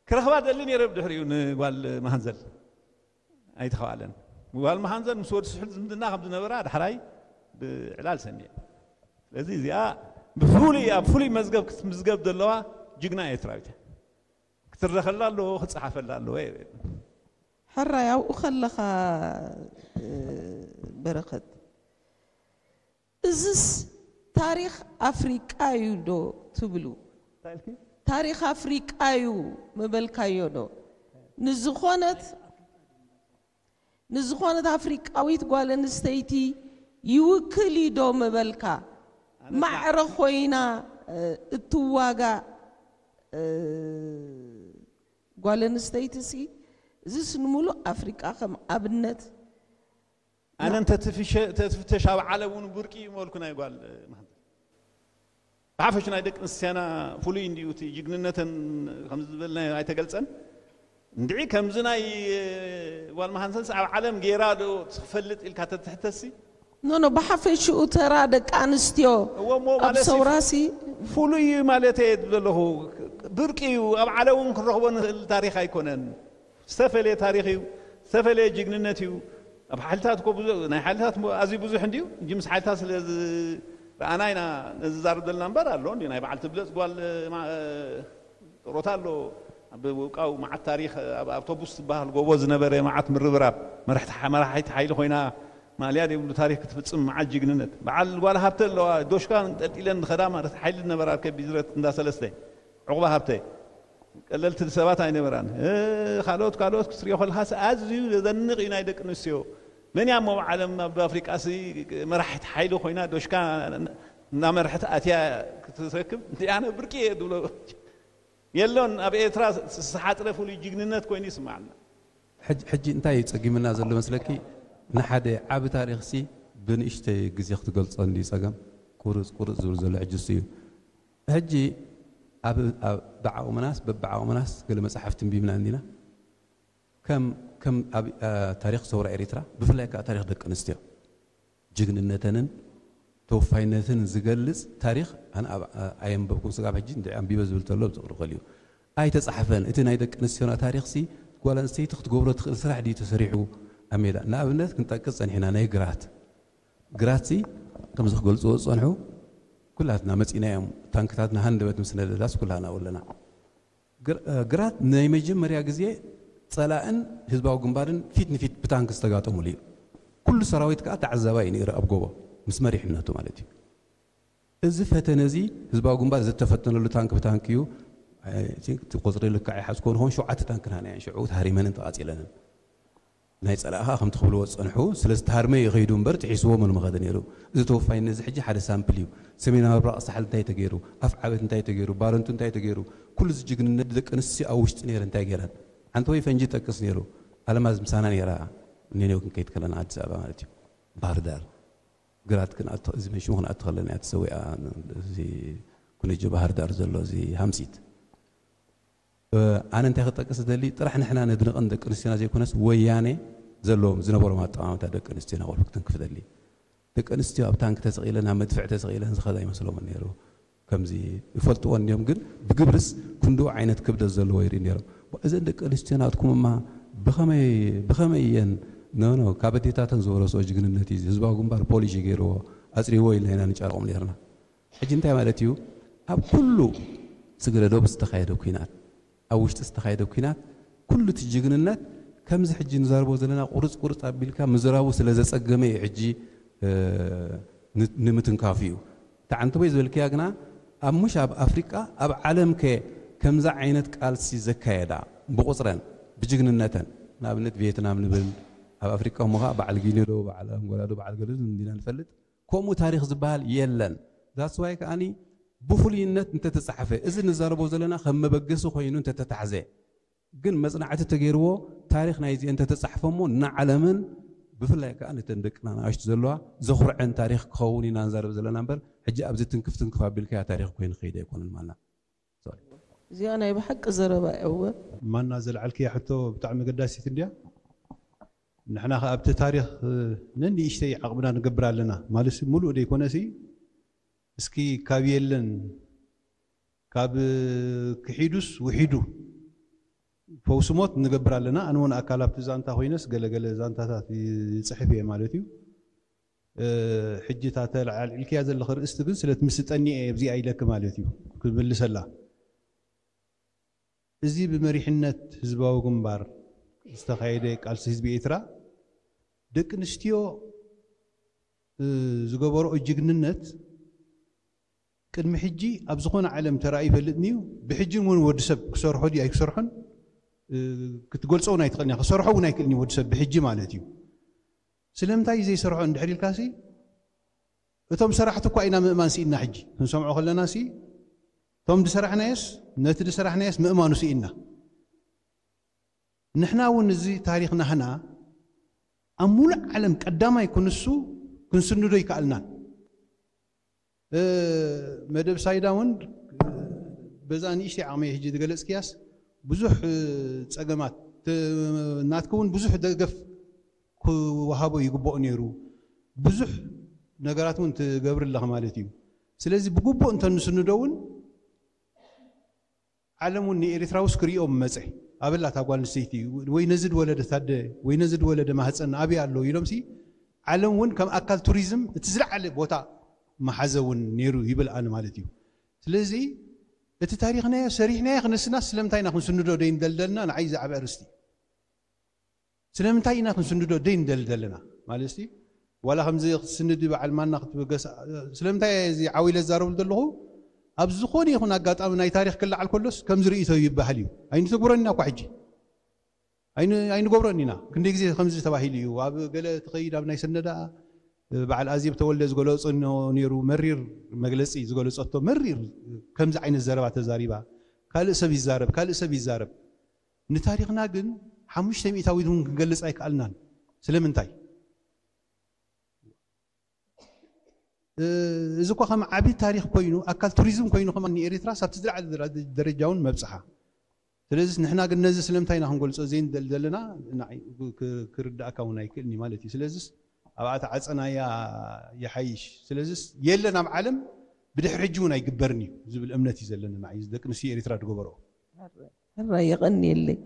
ክረኽባ ደሊ ነይረ። ብድሕሪኡ ንጓል መሃንዘል ኣይተኸባለን። ጓል መሃንዘል ምስ ወዲ ስሑል ዝምድና ከም ዝነበራ ዳሕራይ ብዕላል ሰሚዐ። ስለዚ እዚኣ ብፍሉይ ኣብ ፍሉይ መዝገብ ክትምዝገብ ዘለዋ ጅግና ኤርትራዊት ክትረኸላ ኣለዎ ክፀሓፈላ ኣለዎ። ሕራይ ኣብኡ ከለኻ በረኸት እዝስ ታሪኽ ኣፍሪቃ እዩ ዶ ትብሉ? ታሪኽ ኣፍሪቃ እዩ ምበልካዮ ዶ? ንዝኾነት ንዝኾነት ኣፍሪቃዊት ጓል ኣንስተይቲ ይውክል እዩ ዶ ምበልካ? ማዕረ ኮይና እትዋጋእ ጓል ኣንስተይቲ ሲ እዝስ ንምሉእ ኣፍሪቃ ከም ኣብነት ኣነ እንተትፍተሽ ኣብ ዓለም እውን ብርቂ እዩ መልኩ ናይ ጓል መሃንተ ብሓፈሽ ናይ ደቂ ኣንስትዮና ፍሉይ እንድዩ እቲ ጅግንነተን ከምዚ ዝበልና ኣይተገልፀን እንድዒ ከምዚ ናይ ጓል መሃንተንስ ኣብ ዓለም ገይራ ዶ ትፈልጥ ኢልካ ተትሕተሲ ኖኖ ብሓፈሽኡ ተራ ደቂ ኣንስትዮ እወ እሞ ኣብ ማለት እዩ ሰውራሲ ፍሉይ እዩ ማለት እየ ዘለኹ ብርቂ እዩ ኣብ ዓለም እውን ክንረኽቦ ንኽእል ታሪኽ ኣይኮነን ዝተፈለየ ታሪኽ እዩ ዝተፈለየ ጅግንነት እዩ ኣብ ሓይልታት እኮ ብዙ ናይ ሓይልታት እሞ ኣዝዩ ብዙሕ እንድዩ እንጂ ምስ ሓይልታት ስለ ዝረኣና ኢና ነዚ ዛርብ ዘለና እምበር ኣሎ እንዲ ናይ በዓል ትብለፅ ጓል ማ- ጥሮታ ኣሎ ኣብ ውቃው መዓት ታሪኽ ኣብ ኣውቶቡስ ዝበሃል ጎቦ ዝነበረ መዓት ምርብራብ መራሕቲ መራሒት ሓይሊ ኮይና ማልያ ዘይብሉ ታሪኽ ክትፍፅም መዓት ጅግንነት በዓል ጓል ሃብተ ኣለዋ ዶሽካ ጠልጢለን ዝኸዳ ማለት ሓይሊ ዝነበራ ከቢዝረት እንዳ ሰለስተ ዕቑባ ሃብተ ቀለልቲ ሰባት ኣይነበራን ካልኦት ካልኦት ክትሪኦ ከለኻስ ኣዝዩ ዘደንቕ እዩ ናይ ደቂ ኣንስትዮ መን እያ እሞ ዓለም ኣብ ኣፍሪቃ ሲ መራሒት ሓይሊ ኮይና ዶሽካ እናመርሐት ኣትያ ክትረክብ ኣነ ብርቂ እየ ዝብሎ የሎን ኣብ ኤርትራ ዝተሓፅረ ፍሉይ ጅግንነት ኮይኑ ይስማዓና ሕጂ እንታይ እዩ ፀጊምና ዘሎ መስለኪ ንሓደ ዓቢ ታሪኽሲ ብንእሽተይ ግዜ ክትገልፆ እንዲ ፀገም ቁርፅ ቁርፅ ዝብል ዘሎ ሕጂ እሱ እዩ ሕጂ ብዓቕምናስ በብዓቕምናስ ገለ መፅሓፍቲ እንቢብና እንዲና ከም ከም ኣብ ታሪኽ ሰውራ ኤሪትራ ብፍላይ ከዓ ታሪኽ ደቂ ኣንስትዮ ጅግንነተንን ተወፋይነትን ዝገልፅ ታሪኽ ኣነ ኣየንበብኩም ስጋብ ሕጂ እንድዒ ኣንቢበ ዝብል ተሎ ብዝቕርኸል እዩ ኣይተፃሕፈን እቲ ናይ ደቂ ኣንስትዮና ታሪኽሲ ጓል ኣንስተይቲ ክትገብሮ ትኽእል ስራሕ ድዩ ተሰሪሑ ኣብ ሜዳ ንኣብነት ክንጠቅስ ፀኒሕና ናይ ግራት ግራትሲ ከምዚ ክገልፅዎ ዝፀንሑ ኩላትና መፂና እዮም ታንክታትና ሃንደበት ምስ ነደዳስ ኩላና ኣለና ግራት ናይ መጀመርያ ግዜ ፀላእን ህዝባዊ ግንባርን ፊት ንፊት ብታንክ ዝተጋጠሙሉ እዩ። ኩሉ ሰራዊት ከዓ ተዓዛባይ እዩ ነይሩ ኣብ ጎቦ ምስ መሪሕነቱ ማለት እዩ። እዚ ፈተነ እዚ ህዝባዊ ግንባር ዝተፈተነሉ ታንክ ብታንክ እዩ። እቲ ቁፅሪ ልክዕ ኣይሓዝኮ ንኸውን ሸውዓተ ታንክ ንሃና እየን ሽዑ ተሃሪመንን ተቓፂለንን። ናይ ፀላእ ከዓ ከምቲ ክብልዎ ዝፀንሑ ስለዚ ተሃርመ እዩ ከይዱ እምበር ጥሒስዎ መን ምኸደ ነይሩ። እዚ ተወፋይነት እዚ ሕጂ ሓደ ሳምፕል እዩ። ሰሜናዊ ምብራቕ ሳሕል እንታይ ተገይሩ፣ ኣፍ ዓበት እንታይ ተገይሩ፣ ባረንቱ እንታይ ተገይሩ፣ ኩሉ እዚ ጅግንነት ደቂ ኣንስትዮ ኣብ ውሽጢ ነይረ እንታይ ገይረን። ሓንቲ ወይ ፈንጂ ጠቅስ ነይሩ፣ ኣለማዝ ምሳና ነይራ፣ ኔኔው ክንከይድ ከለና ኣዲስ ኣበባ ማለት እዩ፣ ባህር ዳር ግራት ክንኣቱ፣ እዚ መሽሙ ክንኣቱ ከለና እያ ተሰዊኣ፣ እዚ ኩነጆ ባህር ዳር ዘሎ እዚ ሃምሲት ኣነ እንታይ ክጠቅስ ዝደሊ ጥራሕ ንሕና ነድንቐን ደቂ ኣንስትዮና ዘይኮነስ ወያነ ዘለዎም ዝነበሮም ኣጠማምታ ደቂ ኣንስትዮና ቆልፉ ክትንክፍ ደሊ ደቂ ኣንስትዮ ኣብ ታንክ ተሰቒለን ኣብ መድፍዕ ተሰቒለን ዝኸዳ ይመስሎምን ነይሩ ከምዚ ይፈልጥዎ እንዲዮም ግን ብግብርስ ክንድኡ ዓይነት ክብደት ዘለዎ ይርኢ ነይሮም እዘን ደቂ ኣንስትዮ ናትኩምማ ብኸመይ ብኸመይ እየን ኖኖ ካብ ኣዴታተን ዝወረስኦ ጅግንነት እዩ ህዝባዊ ግንባር ፖሊሽ ገይርዎ ኣፅሪዎ ኢልና ኢና ንጨርቆም ነይርና ሕጂ እንታይ ማለት እዩ ኣብ ኩሉ ስግረ ዶብ ዝተኻየደ ኲናት፣ ኣብ ውሽጢ ዝተኻየደ ኲናት፣ ኩሉ እቲ ጅግንነት ከምዚ ሕጂ ንዛረቦ ዘለና ቁርጽ ቁርጽ ኣቢልካ ምዝራቡ ስለ ዘጸገመ እዩ ሕጂ፣ እ፣ ን-፣ ንምትንካፉ እዩ። እታ ዓንተቦይ ዝበልክያ ግና ኣብ፣ ምሽ ኣብ ኣፍሪቃ፣ ኣብ ዓለም ከ ከምዛ ዓይነት ቃልሲ ዘካየዳ ብቁጽረን ብጅግንነተን፣ ንኣብነት ቪየትናም ንብል፣ ኣብ ኣፍሪቃ እሞ ኸኣ በዓል ጊኒ ዶ፣ በዓል ኣንጎላ ዶ፣ በዓል ገለ ዶ እንዲና ንፈልጥ። ከምኡ ታሪኽ ዝበሃል የለን። That's why ከኣኒ ብፍሉይነት እንተተጻሕፈ፣ እዚ ንዛረቦ ዘለና ከም መበገሲ ኮይኑ እንተተታሕዘ፣ ግን መጽናዕቲ ተገይርዎ፣ ታሪኽ ናይዚአን እንተተጻሕፈ እሞ ንዓለምን ብፍላይ ከኣ ነተን ደቅና ንኣሽቱ ዘለዋ ዘኹርዐን ታሪኽ ክኸውን ኢና ንዛረብ ዘለና እምበር፣ ሕጂ ኣብዚ ትንክፍ ትንክፍ ኣቢልካያ ታሪኽ ኮይኑ ክኸይድ ኣይኮነን ማና። ሶሪ። እዚኣ ናይ ብሓቂ ዘረባ እያ እወ። ማና ዘልዓልክያ ሕቶ ብጣዕሚ ኣገዳሲት እንድያ። ንሕና ኸኣ ኣብቲ ታሪኽ፣ እ፣ ነንእሽተይ ዓቕምና ንገብር ኣለና። ማለት ሙሉእ ደይኮነሲ፣ እስኪ ካብ የለን፣ ካብ ክሒዱስ ውሒዱ ፈውሲ ሞት ንገብር ኣለና። ኣነ እውን ኣካል ኣብቲ ዛንታ ኮይነስ ገለገለ ዛንታታት ይጽሕፍ እየ ማለት እዩ። እ፣ ሕጂ እታ ተልዓልዒልክያ ዘለኺ ርእስቲ ግን ስለ ትምስጠኒ እየ ኣብዚኣ ኢለኪ ማለት እዩ ክምልሰላ። እዚ ብመሪሕነት ህዝባዊ ግንባር ዝተኻየደ ቃልሲ ህዝቢ ኤርትራ፣ ደቂ ኣንስትዮ፣ እ፣ ዝገበርኦ ጅግንነት ቅድሚ ሕጂ ኣብ ዝኾነ ዓለም ተራእዩ ይፈልጥን እዩ። ብሕጂ እውን ወዲ ሰብ ክሰርሖ ድዩ ኣይክሰርሖን፣ እ፣ ክትገልጾ እውን ኣይትኽእልን እያ። ክሰርሖ እውን ኣይክእልን እዩ ወዲ ሰብ ብሕጂ ማለት እዩ። ስለምንታይ እዩ ዘይሰርሖ እንድሕር ኢልካሲ፣ እቶም ሰራሕቲ እኳ ኢና ምእማን ስኢና። ሕጂ ክንሰምዖ ከለና ሲ፣ እቶም ድሰራሕናዮስ፣ ነቲ ድሰራሕናዮስ ምእማኑ ስኢና። ንሕና እውን እዚ ታሪኽ ናህና ኣብ ሙሉእ ዓለም ቀዳማይ ክንሱ ክንስንዶ ይከኣልናን። እ፣ መደብ ሳይዳ እውን በዛ ንእሽተይ ዓቕመይ ሕጂ ዝገለጽክያስ ብዙሕ፣ እ፣ ጸገማት፣ ተ-፣ ናትኪ እውን ብዙሕ ደገፍ ክወሃቦ ይግብኦ ነይሩ። ብዙሕ ነገራት እውን ትገብሪ ኣለኺ ማለት እዩ። ስለዚ ብግቡእ እንተንስንዶ እውን ዓለም እውን ንኤርትራ ውስ ክርእዮም መጸ። ኣበላ እታ ጓል ኣንስተይቲ ወይ ነዚ ድወለደ ታደ ወይ ነዚ ድወለደ ማህፀን ኣበይ ኣሎ ኢሎምሲ ዓለም እውን ከም ኣካል ቱሪዝም እቲ ዝለዓለ ቦታ መሓዘ እውን ነይሩ ይብል ኣነ ማለት እዩ። ስለዚ እቲ ታሪኽናዮ ሰሪሕናዮ ክነስና ስለምንታይ ኢና ክንስንዶ ደይንደልደልና ንዓይ ዝዓበ ኣርእስቲ። ስለምንታይ ኢና ክንስንዶ ደይንደሊ ዘለና? ማለትሲ ዋላ ከምዚ ክትስንዲ በዓል ማና ክትብገስ፣ ስለምንታይ እዚ ዓው ኢለ ዝዛረበሉ ዘለኹ? ኣብ ዝኾነ ይኹን ኣጋጣሚ ናይ ታሪኽ ክለዓል ከሎስ ከምዚ ርእይቶ ይበሃል እዩ። ኣይንትግብሮን ኢና እኳ ሕጂ። ኣይን-፣ ኣይንገብሮን ኢና። ክንደይ ግዜ ከምዚ ተባሂሉ እዩ። ኣብ ገለ ትኸይድ ኣብ ናይ ሰነዳ በዓል ኣዜብ ተወልደ ዝገለጾ ነይሩ፣ መሪር መግለጺ ዝገለጸቶ፣ መሪር ከምዚ ዓይነት ዘረባ ተዛሪባ። ካልእ ሰብ ይዛረብ፣ ካልእ ሰብ ይዛረብ። ንታሪኽና ግን ሓሙሽተ ሚእታዊት እውን ክንገልጽ ኣይከኣልናን። ስለምንታይ? እ፣ እዚ እኳ ከም ዓቢ ታሪኽ ኮይኑ፣ ኣካል ቱሪዝም ኮይኑ ከማን ንኤርትራ ሳብቲ ዝለዓለ ደረ-፣ ደረጃ እውን መብጽሓ። ስለዚ ንሕና ግን ነዚ ስለምንታይ ኢና ክንገልጾ ዘይንደሊ ዘለና? ንዓይ ክ-፣ ክ-፣ ክርዳእካ እውን ኣይክእልኒ ማለት እዩ። ስለዚስ ኣብኣ ተዓጸናያ ይሓይሽ። ስለዚስ የለን ኣብ ዓለም ብድሕሪ ሕጂ እውን ኣይግበርን እዩ ዝብል እምነት እዩ ዘለኒ ንዓይ፣ እዚ ደቂ ኣንስትዮ ኤርትራ ዝገበርኦ። ሕራይ የቐንየለይ።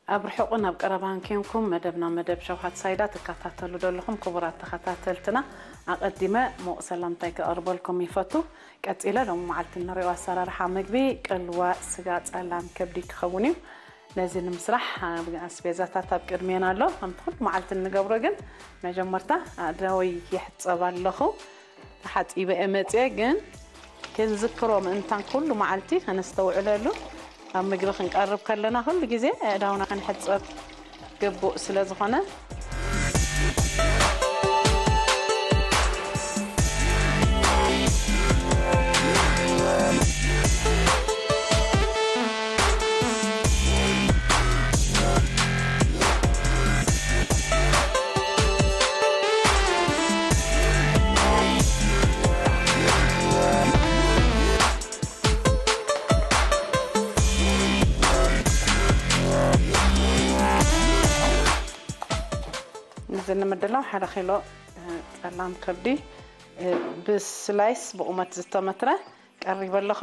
ኣብ ርሑቕን ኣብ ቀረባን ኬንኩም መደብና መደብ ሸውሃት ሳይዳ ትከታተሉ ዘለኹም ክቡራት ተኸታተልትና፣ ኣቐዲመ ሙቕ ሰላምታይ ከቕርበልኩም ይፈቱ። ቀጺለ ሎም መዓልቲ እንሪኦ ኣሰራርሓ ምግቢ ቅልዋ ስጋ ጸላም ከብዲ ክኸውን እዩ። ነዚ ንምስራሕ ኣስቤዛታት ኣብ ቅድሜና ኣሎ። ከምቲ ኩሉ መዓልቲ እንገብሮ ግን መጀመርታ ኣእዳወይ ይሕጸብ ኣለኹ። ተሓጺበ እየ መጽየ፣ ግን ክንዝክሮ ምእንታን ኩሉ መዓልቲ ከነስተውዕለሉ፣ ኣብ ምግቢ ክንቀርብ ከለና ኩሉ ግዜ ኣእዳውና ክንሕጸብ ግቡእ ስለ ዝኾነ። እዚ ንምድላው ሓደ ኪሎ፣ እ፣ ጸላም ከብዲ፣ እ፣ ብስላይስ ብቑመት ዝተመትረ ቀሪበ ኣለኹ።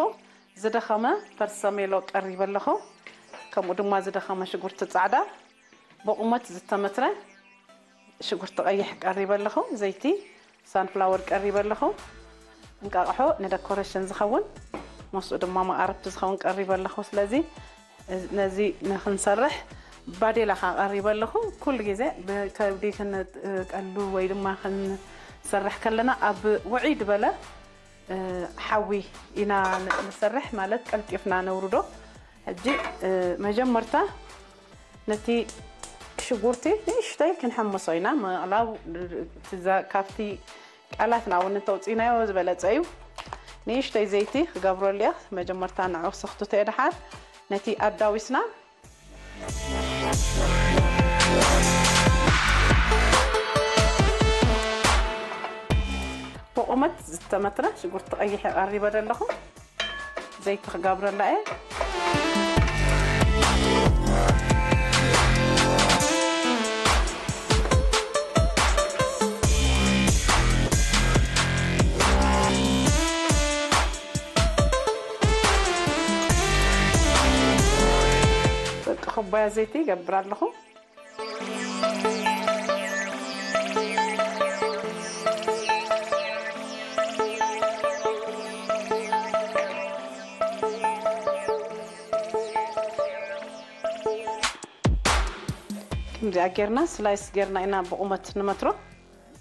ዝደኸመ ፐርሰሜሎ ቀሪበ ኣለኹ። ከምኡ ድማ ዝደኸመ ሽጉርቲ ጻዕዳ ብቑመት ዝተመትረ ሽጉርቲ ቀይሕ ቀሪበ ኣለኹ። ዘይቲ ሳንፍላወር ቀሪበ ኣለኹ። እንቃቕሖ ንደኮሬሽን ዝኸውን፣ ምስኡ ድማ መቓርብቲ ዝኸውን ቀሪበ ኣለኹ። ስለዚ፣ እዚ፣ ነዚ ንኽንሰርሕ ባዴላ ኸዓ ቀሪበ ኣለኹ። ኩሉ ግዜ ብከብዲ ክንቀሉ ወይ ድማ ክንሰርሕ ከለና ኣብ ውዕይ ዝበለ፣ እ፣ ሓዊ ኢና ን-፣ ንሰርሕ፣ ማለት ቀልጢፍና ነውርዶ። ሕጂ፣ እ፣ መጀመርታ ነቲ ሽጉርቲ ንእሽተይ ክንሕምሶ ኢና። ምቕላው፣ ትዛ-፣ ካብቲ ቃላትና እውን እንተውፅኢናዮ ዝበለፀ እዩ። ንእሽተይ ዘይቲ ክገብረሉ እየ። መጀመርታ ንዑ ክሰኽትቶ እየ። ደሓር ነቲ ኣዳዊስና ብቑመት ዝተመትረ ሽጉርቲ ቀይሕ የቐሪበ ዘለኹ። ዘይቲ ክገብረላ እየ። ደቂ ኩባያ ዘይቲ ይገብር ኣለኹ። ከምዚኣ ጌርና ስላይስ ጌርና ኢና ብቑመት ንመትሮ።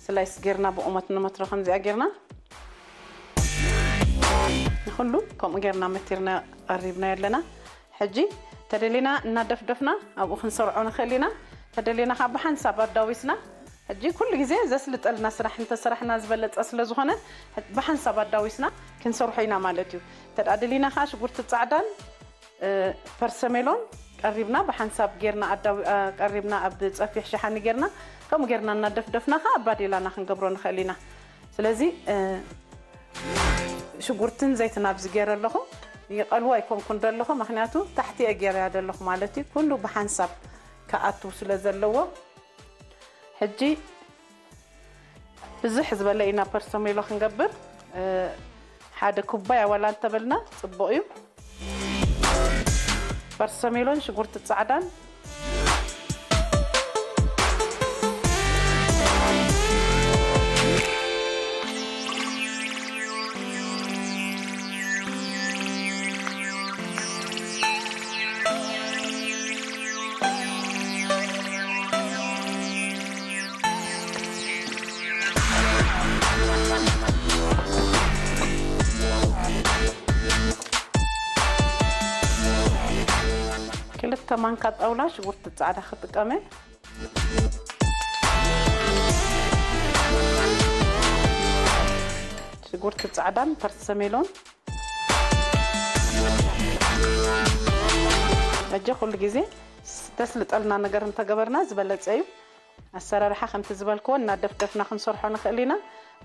ስላይስ ጌርና ብቑመት ንመትሮ ከምዚኣ ጌርና። ንኹሉ ከምኡ ጌርና መቲርና ቀሪብና ኣለና። ሕጂ ተደሊና እናደፍደፍና ኣብኡ ክንሰርዖ ንኽእል ኢና። ተደሊና ካብ ብሓንሳብ ኣዳዊስና፣ ሕጂ ኩሉ ግዜ ዘስልጠልና ስራሕ እንተሰራሕና ዝበለጸ ስለ ዝኾነ፣ ብሓንሳብ ኣዳዊስና ክንሰርሖ ኢና ማለት እዩ። ተደኣ ደሊና ከዓ ሽጉርቲ ጻዕዳን፣ እ፣ ፐርሰሜሎን ቀሪብና ብሓንሳብ ጌርና ኣዳዊ-፣ እ፣ ቀሪብና ኣብ ጸፊሕ ሸሓኒ ጌርና፣ ከምኡ ጌርና እናደፍደፍና ከዓ ኣብ ባዴላና ክንገብሮ ንኽእል ኢና። ስለዚ፣ እ፣ ሽጉርትን ዘይትን ኣብዚ ገይረ ኣለኹ። ይቐልዎ ኣይኮንኩን ዘለኹ፣ ምኽንያቱ ታሕቲ እየ ገይረያ ዘለኹ ማለት እዩ። ኩሉ ብሓንሳብ ክኣቱ ስለ ዘለዎ፣ ሕጂ ብዝሕ ዝበለ ኢና ፐርሰሜሎ ክንገብር። እ፣ ሓደ ኩባያ ዋላ እንተበልና ጽቡቕ እዩ። ፐርሰሜሎን ሽጉርቲ ጻዕዳን። ክልተ ማንካ ጣውላ ሽጉርቲ ጻዕዳ ክጥቀመ። ሽጉርቲ ጻዕዳን ፐርሰሜሎን። ሕጂ ኩሉ ግዜ ስ-፣ ተስልጠልና ነገር እንተገበርና ዝበለጸ እዩ። ኣሰራርሓ ከምቲ ዝበልክዎ እናደፍደፍና ክንሰርሖ ንኽእል ኢና።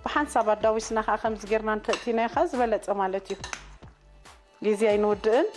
ብሓንሳብ ኣዳዊስና ከዓ ከምዚ ጌርና እንተእቲናዮ ከዓ ዝበለጸ ማለት እዩ። ግዜ ኣይንውድእን።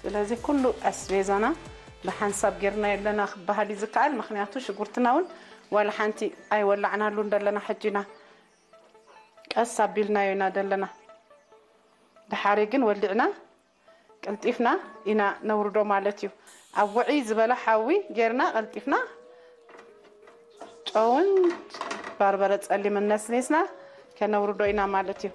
ስለዚ ኩሉ ኣስቤዛና ብሓንሳብ ጌርና የለና ክበሃል እዩ ዝከኣል። ምኽንያቱ ሽጉርትና እውን ዋላ ሓንቲ ኣይወላዕናሉን ደለና። ሕጂና ቀስ ኣቢልናዮ ኢና ደለና። ድሓሪ ግን ወሊዕና ቀልጢፍና ኢና ነውርዶ ማለት እዩ። ኣብ ውዕይ ዝበለ ሓዊ ጌርና ቀልጢፍና ጨውን ባርበረ ጸሊምን ነስኒስና ከነውርዶ ኢና ማለት እዩ።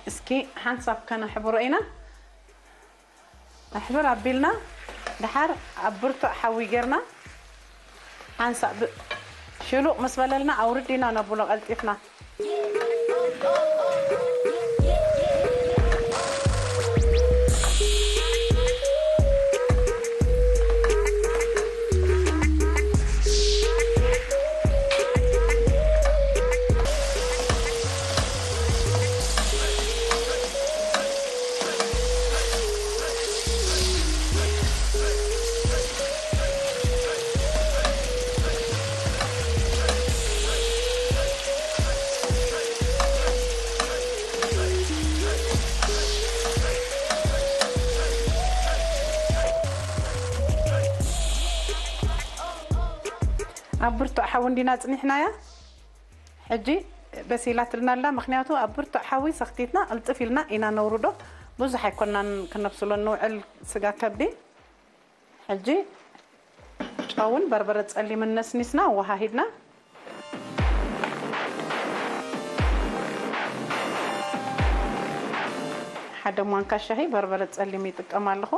እስኪ ሓንሳብ ከነሕብሮ ኢና። ኣሕብር ኣቢልና፣ ድሓር ኣብ ብርቱዕ ሓዊ ጌርና ሓንሳብ ብ-፣ ሽሉቕ ምስ በለልና ኣውርድ ኢና ነብሎ ቀልጢፍና። ኣብ ብርቱዕ ሓዊ እንዲና ጽኒሕናያ። ሕጂ በሲላትልና ኣላ፣ ምኽንያቱ ኣብ ብርቱዕ ሓዊ ሰኽቲትና ቅልጥፍ ኢልና ኢና ነውርዶ። ብዙሕ ኣይኮናን ክነብስሎ ንውዕል ስጋ ከብዲ። ሕጂ ጨውን በርበረ ጸሊምን ነስኒስና ኣወሃሂድና፣ ሓደ ማንካ ሻሂ በርበረ ጸሊም ይጥቀም ኣለኹ።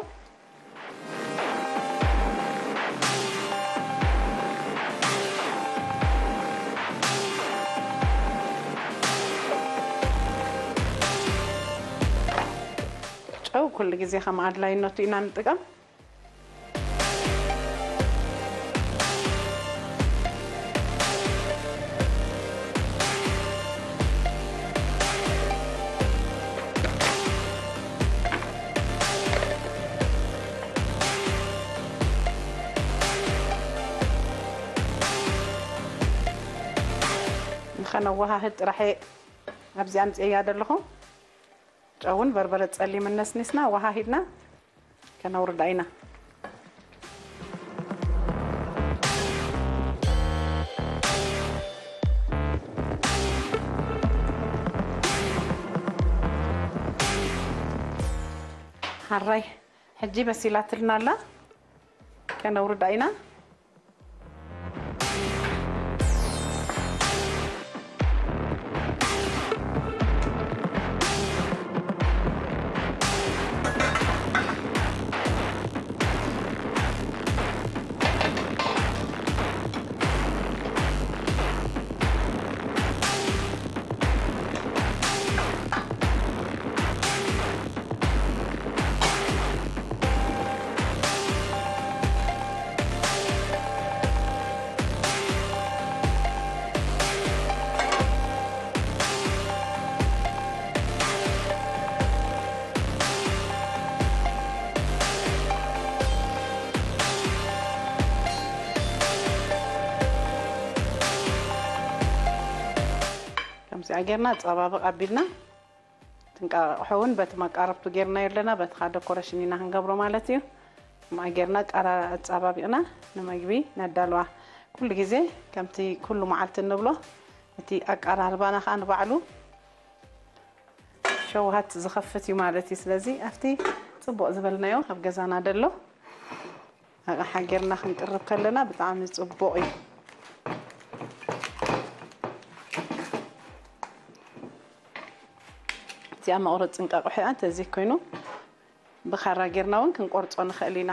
ጨው ኩሉ ግዜ ከም ኣድላይነቱ ኢና ንጥቀም። ንኸነወሃህድ ጥራሕ እየ ኣብዚ ኣምፅኤያ ዘለኹ። ጨውን በርበረ ጸሊምን ነስኒስና ወሃሂድና ከነውርዳ ኢና። ሓራይ ሕጂ በሲላትልና ኣላ፣ ከነውርዳ ኢና። ከምዚኣ ጌርና ጸባብቕ ኣቢልና፣ እቲ እንቃቑሖ እውን በቲ መቃረብቱ ጌርናዮ ኣለና፣ በቲ ከዓ ደኮሬሽን ኢና ክንገብሮ ማለት እዩ። ከምኣ ጌርና ቃራ ኣጻባቢቕና ንመግቢ ነዳልዋ። ኩሉ ግዜ ከምቲ ኩሉ መዓልቲ እንብሎ፣ እቲ ኣቀራርባና ከዓ ንባዕሉ ሸውሃት ዝኸፍት እዩ ማለት እዩ። ስለዚ ኣብቲ ጽቡቕ ዝበልናዮ ኣብ ገዛና ደሎ ኣቕሓ ጌርና ክንቅርብ ከለና ብጣዕሚ ጽቡቕ እዩ። እቲኣ መቑረፂ እንቃቑሖ እያ። እንተዘይ ኮይኑ ብኻራ ጌርና እውን ክንቆርጾ ንኽእል ኢና።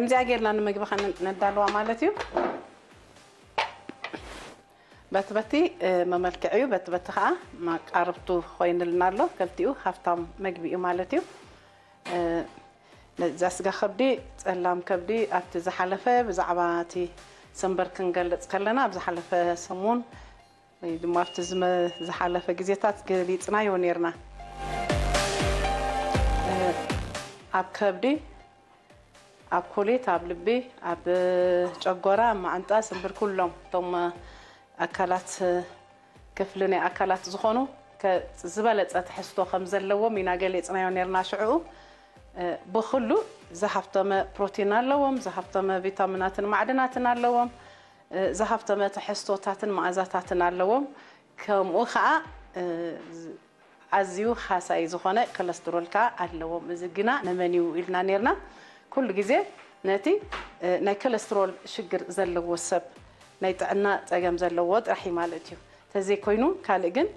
ከምዚኣ ጌርና ንምግቢ ከነዳልዋ ማለት እዩ። በቲ በቲ መመልክዒ እዩ፣ በቲ በቲ ከዓ መቃርብቱ ኮይንልና ኣሎ። ከልቲኡ ሃፍታም መግቢ እዩ ማለት እዩ። ነዛ ስጋ ከብዲ፣ ፀላም ከብዲ ኣብቲ ዝሓለፈ ብዛዕባ እቲ ሰንበር ክንገልፅ ከለና፣ ኣብ ዝሓለፈ ሰሙን ወይ ድማ ኣብቲ ዝሓለፈ ግዜታት ገሊፅናዮ ነርና። ኣብ ከብዲ፣ ኣብ ኮሌት፣ ኣብ ልቢ፣ ኣብ ጨጎራ፣ ኣብ ማዓንጣ፣ ስንብር፣ ኩሎም እቶም ኣካላት፣ ክፍሊ ናይ ኣካላት ዝኾኑ ዝበለፀ ትሕዝቶ ከም ዘለዎም ኢና ገሊፅናዮ ነርና። ሽዕኡ ብኩሉ ዝሃፍተመ ፕሮቲን ኣለዎም፣ ዝሃፍተመ ቪታሚናትን ማዕድናትን ኣለዎም፣ ዝሃፍተመ ትሕዝቶታትን መኣዛታትን ኣለዎም። ከምኡ ከዓ ኣዝዩ ሃሳይ ዝኾነ ኮለስትሮል ከዓ ኣለዎም። እዚ ግና ንመን እዩ ኢልና ነርና። ኩሉ ግዜ ነቲ ናይ ኮለስትሮል ሽግር ዘለዎ ሰብ፣ ናይ ጥዕና ፀገም ዘለዎ ጥራሕ እዩ ማለት እዩ። ተዘይኮይኑ ካልእ ግን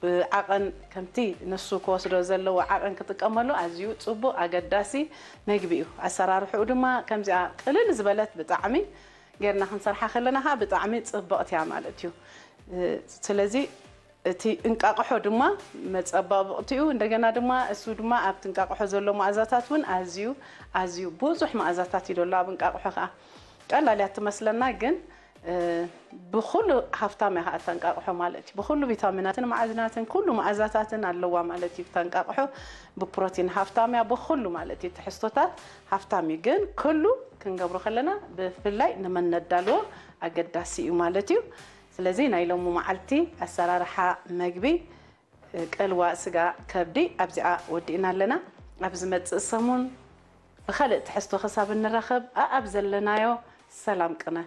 ብዓቐን ከምቲ ንሱ ክወስዶ ዘለዎ ዓቐን ክጥቀመሉ ኣዝዩ ፅቡቕ ኣገዳሲ መግቢ እዩ። ኣሰራርሕኡ ድማ ከምዚኣ ቅልል ዝበለት ብጣዕሚ ጌርና ክንሰርሓ ከለና ከዓ ብጣዕሚ ፅብቕቲ እያ ማለት እዩ። ስለዚ እቲ እንቃቕሖ ድማ መፀባብቕቲኡ፣ እንደገና ድማ እሱ ድማ ኣብቲ እንቃቕሖ ዘሎ መኣዛታት እውን ኣዝዩ ኣዝዩ ብዙሕ መኣዛታት እዩ ዘሎ ኣብ እንቃቕሖ ከዓ። ቀላል እያ ትመስለና ግን ብኩሉ ሃፍታም እያ ከዓ እታ እንቃቕሖ ማለት እዩ። ብኩሉ ቪታሚናትን ማዕድናትን ኩሉ መኣዛታትን ኣለዋ ማለት እዩ እታ እንቃቕሖ። ብፕሮቲን ሃፍታም እያ፣ ብኩሉ ማለት እዩ ትሕዝቶታት ሃፍታም እዩ። ግን ኩሉ ክንገብሮ ከለና ብፍላይ ንመን ነዳልዎ ኣገዳሲ እዩ ማለት እዩ። ስለዚ ናይ ሎሚ መዓልቲ ኣሰራርሓ መግቢ ቀልዋ ስጋ ከብዲ ኣብዚኣ ወዲእና ኣለና። ኣብ ዝመፅእ ሰሙን ብካልእ ትሕዝቶ ክሳብ እንራኸብ ኣኣብ ዘለናዮ ሰላም ቅነ።